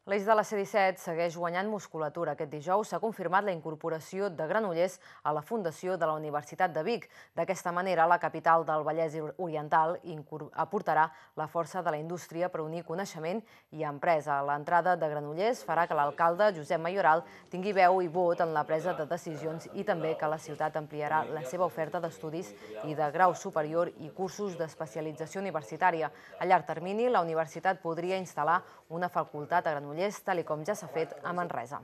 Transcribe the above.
L'eix de la C-17 segueix guanyant musculatura. Aquest dijous s'ha confirmat la incorporació de Granollers a la fundació de la Universitat de Vic. D'aquesta manera, la capital del Vallès Oriental aportarà la força de la indústria per unir coneixement i empresa. L'entrada de Granollers farà que l'alcalde, Josep Mayoral, tingui veu i vot en la presa de decisions i també que la ciutat ampliarà la seva oferta d'estudis i de grau superior i cursos d'especialització universitària. A llarg termini, la universitat podria instal·lar una facultat a Granollers, tal com ja s'ha fet a Manresa.